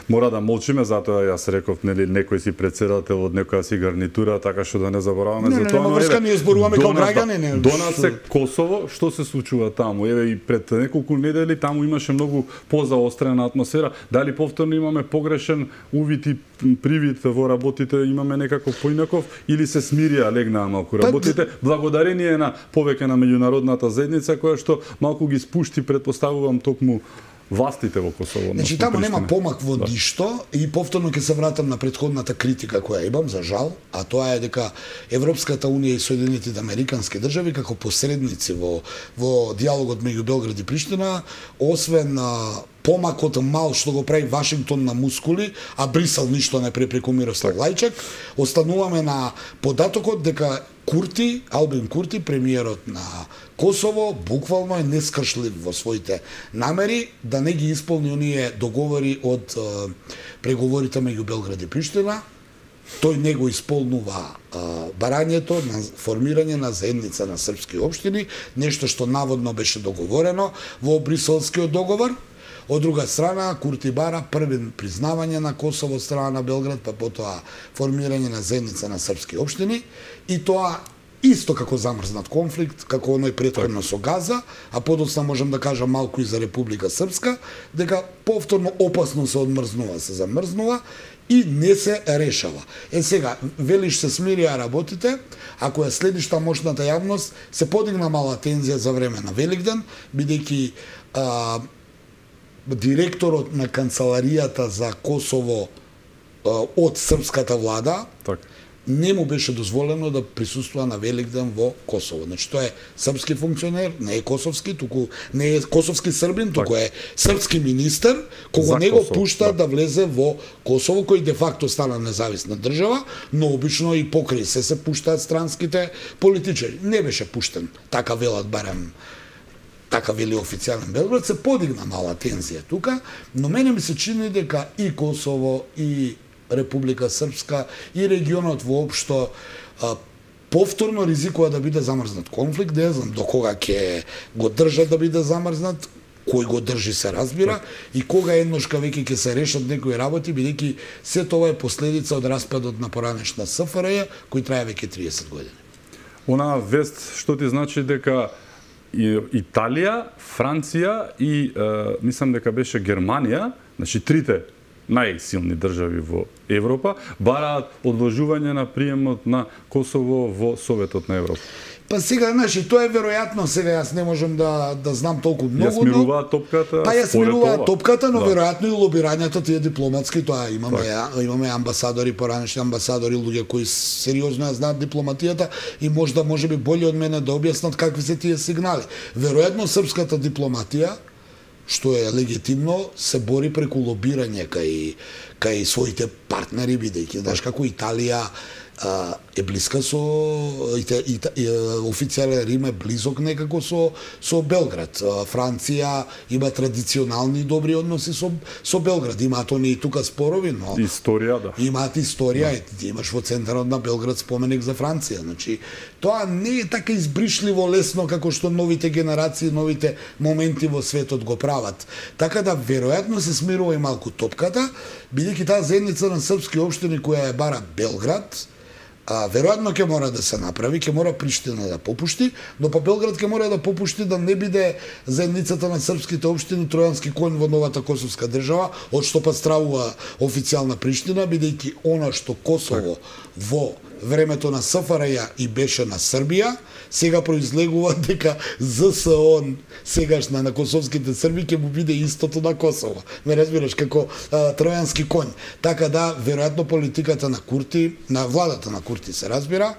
Мора да молчиме, затоа јас реков, нели, некој си председател од некоја си гарнитура, така што да не забораваме за тоа. Не, врска, ние зборуваме како граѓани. До нас е Косово, што се случува таму? Еве и пред неколку недели таму имаше многу позаострена атмосфера. Дали повторно имаме погрешен увид и привид во работите, имаме некако поинаков или се смирија, легнаа малку работите, благодарение на повеќе на меѓународната заедница која што малку ги спушти, претпоставувам, токму властите во Косово. Значи таму нема помак во ништо и повторно ќе се вратам на претходната критика која имам, за жал, а тоа е дека Европската унија и Соединетите американски држави како посредници во диалогот меѓу Белград и Приштина, освен помакот мал што го прави Вашингтон на мускули, а Брисел ништо не преку Мирослав Лајчак, остануваме на податокот дека Курти, Албин Курти, премиерот на Косово, буквално е нескршлив во своите намери да не ги исполни оние договори од преговорите меѓу Белград и Приштина. Тој не го исполнува барањето на формирање на заедница на српски општини, нешто што наводно беше договорено во Бриселскиот договор. Од друга страна, Курти бара први признавање на Косово од страна на Белград, па потоа формирање на заедница на српски општини, и тоа исто како замрзнат конфликт, како оној претходно со Газа, а подоцна можам да кажам малку и за Република Српска, дека повторно опасно се одмрзнува, се замрзнува и не се решава. Сега, велиш се смирија работите, ако ја следиш та мощната јавност, се подигна мала тензија за време на Великден, бидејќи директорот на канцеларијата за Косово од српската влада не му беше дозволено да присуствува на Великден во Косово. Значи тоа е српски функционер, не е косовски, туку не е косовски србин, туку е српски министер, кого не го пушта да влезе во Косово, кој де факто стана независна држава, но обично и покрај се пуштаат странските политичари. Не беше пуштен, така велат барем, така вели официјален Белград, се подигна мала тензија тука, но мене ми се чини дека и Косово, и Република Српска, и регионот воопшто повторно ризикува да биде замрзнат конфликт, не знам до кога ќе го држат да биде замрзнат, кој го држи се разбира, и кога едношка веќе ќе се решат некои работи, бидејќи се тоа е последица од распадот на поранешна СФРЈ, кој трае веќе 30 години. Онаа вест што ти значи дека Италија, Франција и мислам дека беше Германија, значи трите најсилни држави во Европа, бараат одложување на приемот на Косово во Советот на Европа. Па сега, значи, тоа е веројатно, сега јас не можам да знам толку многу. Ја смируваат топката. Па ја смируваат топката, но веројатно и лобирањето тие дипломатски, тоа имаме амбасадори, поранешни амбасадори, луѓе кои сериозно ја знаат дипломатијата и можеби боле од мене да објаснат какви се тие сигнали. Веројатно српската дипломатија, што е легитимно, се бори преку лобирање кај своите партнери, бидејќи, знаеш, како Италија е блиска со официјален Рим е близок некако со Белград. Франција има традиционални добри односи со Белград. Имаат они и тука спорови, но историја, да. Имаат историја, ти имаш во центарот на Белград споменик за Франција. Значи, тоа не е така избришливо лесно како што новите генерации, новите моменти во светот го прават. Така да веројатно се смирува и малку топката, бидејќи таа заедница на српски општини која е бара Белград, веројатно ќе мора да се направи, ќе мора Приштина да попушти, но па Белград ќе мора да попушти да не биде заедницата на српските општини тројански конј во новата косовска држава, од што па стравува официјална Приштина, бидејќи она што Косово во времето на СФРЈ и беше на Србија, сега произлегува дека ЗСО сегашна на косовските срби ќе му биде истото на Косово. Ме разбираш, како тројански конј. Така да, веројатно политиката на Курти, на владата на Курти се разбира,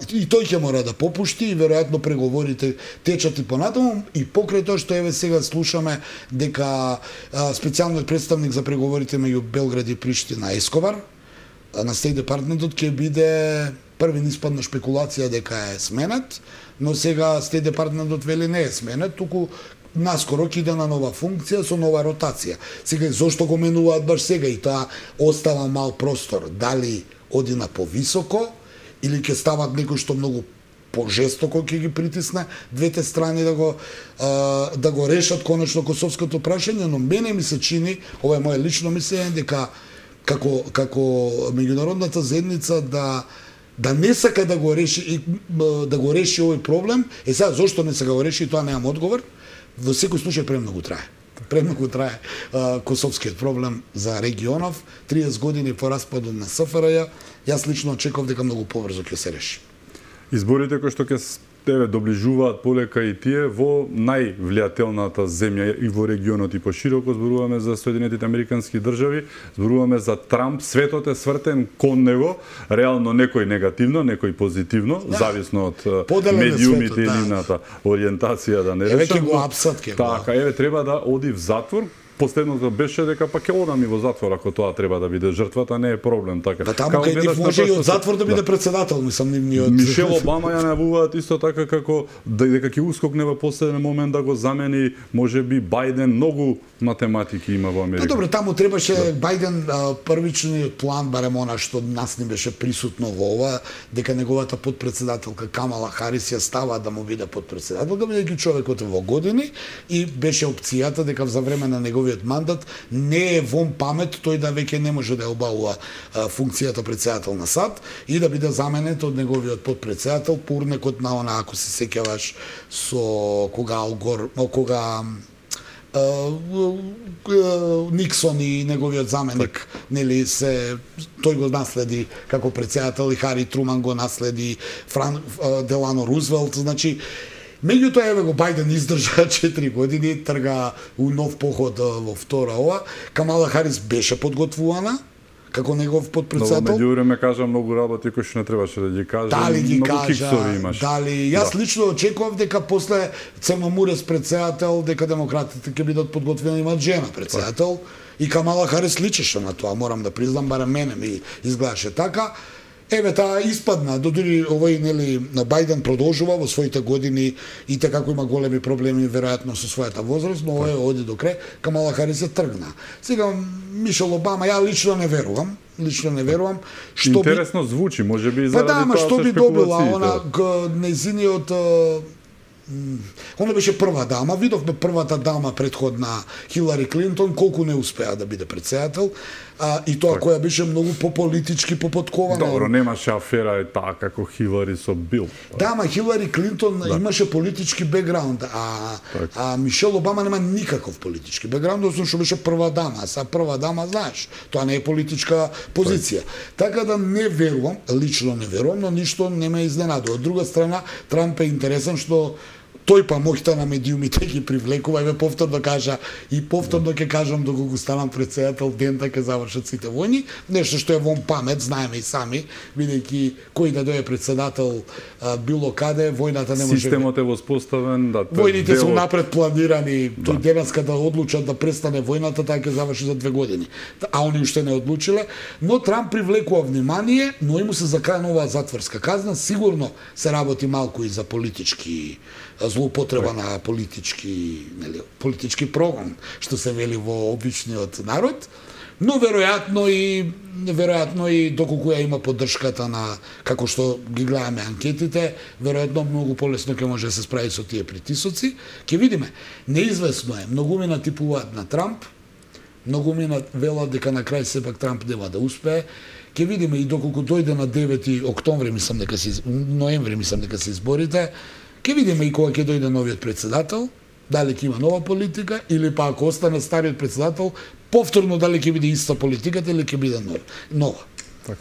и тој ќе мора да попушти и веројатно преговорите течат и понатаму, и покрај тоа што еве сега слушаме дека специјалниот представник за преговорите меѓу Белград и Приштина Ескобар на Стейт Департментот ќе биде први испадна шпекулација дека е сменет, но сега Стейт Департментот вели не е сменет, туку наскоро ќе иде на нова функција со нова ротација. Сега зошто го менуваат баш сега и тоа остава мал простор, дали оди на повисоко или ќе стават некој што многу пожестоко ќе ги притисне двете страни да го решат конечно косовското прашање, но мене ми се чини, ова е моје лично мислење, дека како меѓународната заедница да не сака да го реши овој проблем. Сега зошто не сака го реши, тоа немам одговор. Во секој случај премногу трае. Премногу трае косовскиот проблем за регионов. 30 години по распадот на СФРЈ, јас лично очекував дека многу побрзо ќе се реши. Изборите кои што ќе доближуваат полека и тие во највлијателната земја и во регионот и пошироко, зборуваме за Соединетите Американски држави, зборуваме за Трамп, светот е свртен кон него, реално некој негативно, некој позитивно, зависно од медиумите и нивната ориентација, да не речам. Еве ќе го апсат, Така, еве треба да оди в затвор, последното беше дека пак ќе одам и во затвор ако тоа треба да биде жртвата, не е проблем така. Да, таму кај нив може и од затвор да биде председател, мислам нивниот. Мишел Обама ја најавуваат исто така како дека ќе ускокне во последен момент да го замени можеби Бајден, многу математики има во Америка. Добро, таму требаше Бајден првичниот план, барем она што нас не беше присутно во ова, дека неговата подпредседателка Камала Харис ја става да му биде подпредседателка, бидејќи човекот во години и беше опцијата дека за време на неговиот мандат не е вон памет тој да веќе не може да ја обавува функцијата председател на САД и да биде заменет од неговиот подпредседател по урнекот на она, ако се сеќаваш, со кога Никсон и неговиот заменик, нели се тој го наследи како председател и Хари Труман го наследи, Делано Рузвелт, значи меѓутоа еве го Бајден издржа 4 години, трга у нов поход во втора ова. Камала Харис беше подготвувана како негов подпредседател. Но меѓувреме кажа многу работи кои што не требаше да ги каже. Дали ги многу кажа, дали јас лично очекував дека после Цема Мурес председател, дека демократите ќе бидат подготвени имат жена председател и Камала Харис личеше на тоа, морам да признам, барем мене ми изгледаше така. Еве таа испадна, додури овој нели Бајден продолжува во своите години и така како има големи проблеми веројатно со својата возраст, но овој оди до крај, Камала Харис се тргна. Сега Мишел Обама ја лично не верувам, што интересно звучи, можеби заради тоа. Па да, ама што би добила она незиниот она беше прва дама, видовме првата дама предходна Хилари Клинтон колку не успеа да биде председател, и тоа која беше многу пополитички попоткована. Добро, немаше афера и таа како Хилари со Бил. Да, ама Хилари Клинтон имаше политички бекграунд, а Мишел Обама нема никаков политички бекграунд, освен што беше прва дама, а прва дама, знаеш, тоа не е политичка позиција. Така да не верувам, лично не верувам, но ништо не ме изненадува. Од друга страна, Трамп е интересен што тој па моќта на медиумите ги привлекува, еве повторно кажа и повторно ќе кажам доколку станам председател дента ќе завршат сите војни, нешто што е вон памет, знаеме и сами, бидејќи кој да дојде председател било каде, војната не може. Системот е воспоставен, да. Војните се напред планирани, тој денеска да одлучат да престане војната, таа ќе заврши за 2 години. А они уште не одлучиле, но Трамп привлекува внимание, но и му се заканува затворска казна, сигурно се работи малку и за политички злоупотреба на политички прогон, што се вели во обичниот народ, но веројатно и доколку ја има поддршката на, како што ги гледаме анкетите, веројатно многу полесно ќе може да се справи со тие притисоци. Ќе видиме, неизвестно е, многумина типуваат на Трамп, многумина велат дека на крај сепак Трамп нема да успее. Ќе видиме и доколку дојде на 9 октомври, ноември мислам дека се изборите, ќе видиме и кога ќе дојде новиот председател, дали ќе има нова политика или па ако остане стариот председател, повторно дали ќе биде иста политиката или ќе биде нова. Така.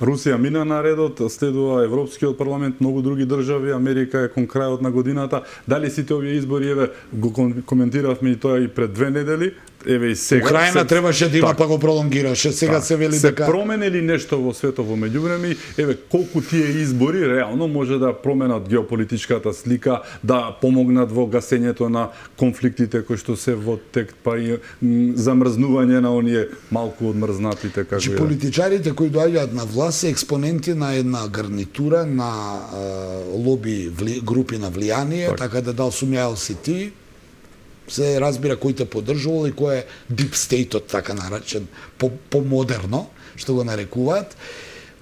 Русија мина на редот, следува Европскиот парламент, многу други држави, Америка е кон крајот на годината. Дали сите овие избори, еве, го коментиравме и тоа и пред 2 недели, еве и сега. Украина требаше да има, па го пролонгираше. Сега се вели дека се променели нешто во светот во меѓувреме, еве колку тие избори реално може да променат геополитичката слика, да помогнат во гасењето на конфликтите кои што се во тек, па и замрзнување на оние малку одмрзнатите како политичарите кои доаѓаат на власт се експоненти на една гарнитура на лоби групи на влијание, така да дал сумјаел си ти, се разбира кој те поддржувал и кој е deep state-от, така наречен, по-модерно, што го нарекуваат.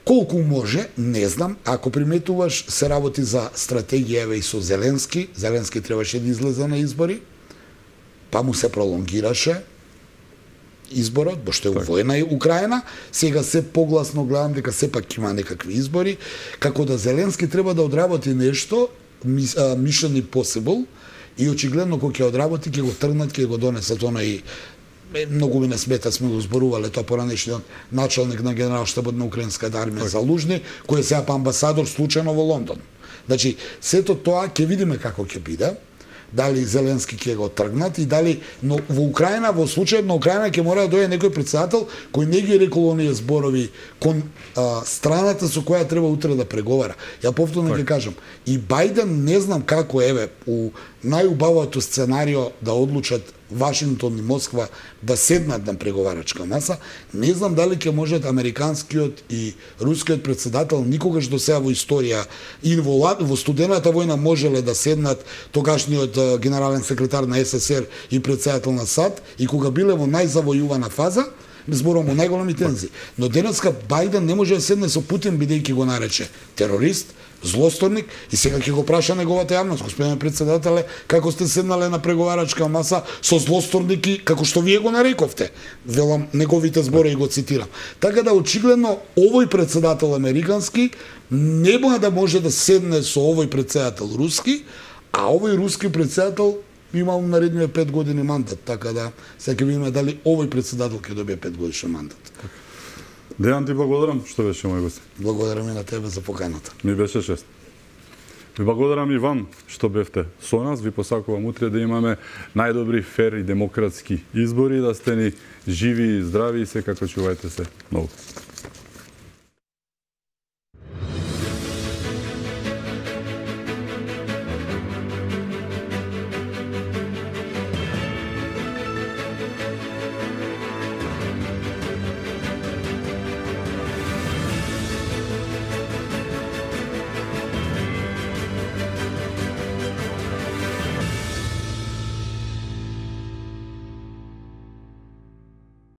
Колку може, не знам, ако приметуваш, се работи за стратегија еве и со Зеленски. Зеленски требаше да излезе на избори, па му се пролонгираше изборот, бошто е војна и Украина. Сега се погласно гледам дека сепак има некакви избори, како да Зеленски треба да одработи нешто, mission impossible, и очигледно кога ќе одработи, ќе го тргнат, ќе го донесат оној, многу ми не смета, сме го зборувале тоа поранешниот началник на генералштабот на украинската армија Залужни, кој е сега амбасадор случајно во Лондон. Значи, сето тоа ќе видиме како ќе биде, дали Зеленски ќе го тргнат и дали, но во Украина, во случајот на Украина ќе мора да дојде некој председател кој не ги рекол оние зборови кон страната со која треба утре да преговара. Ја повторно ќе кажам, и Бајден не знам како еве у најубавото сценарио да одлучат Вашингтон и Москва да седнат на преговарачка маса. Не знам дали ќе можат американскиот и рускиот председател никогаш до сега во историја и во студената војна можеле да седнат тогашниот генерален секретар на СССР и председател на САД и кога биле во најзавојувана фаза, зборувам о најголеми тензии. Но денеска Бајден не може да седне со Путин бидејќи го нарече терорист, злосторник и сега ќе го праша неговата јавност, господине председателе, како сте седнале на преговарачка маса со злосторники, како што вие го нарековте. Велам неговите збори и го цитирам. Така да очигледно овој председател американски нема да може да седне со овој председател руски, а овој руски председател имал наредниве 5 години мандат, така да сега ќе видиме дали овој председател ќе добие 5 годишен мандат. Дејан, ти благодарам што беше мој гост. Благодарам и на тебе за поканата. Ми беше чест. Ви благодарам и вам што бевте со нас. Ви посакувам утре да имаме најдобри, фер и демократски избори, да сте ни живи и здрави и секако чувајте се многу.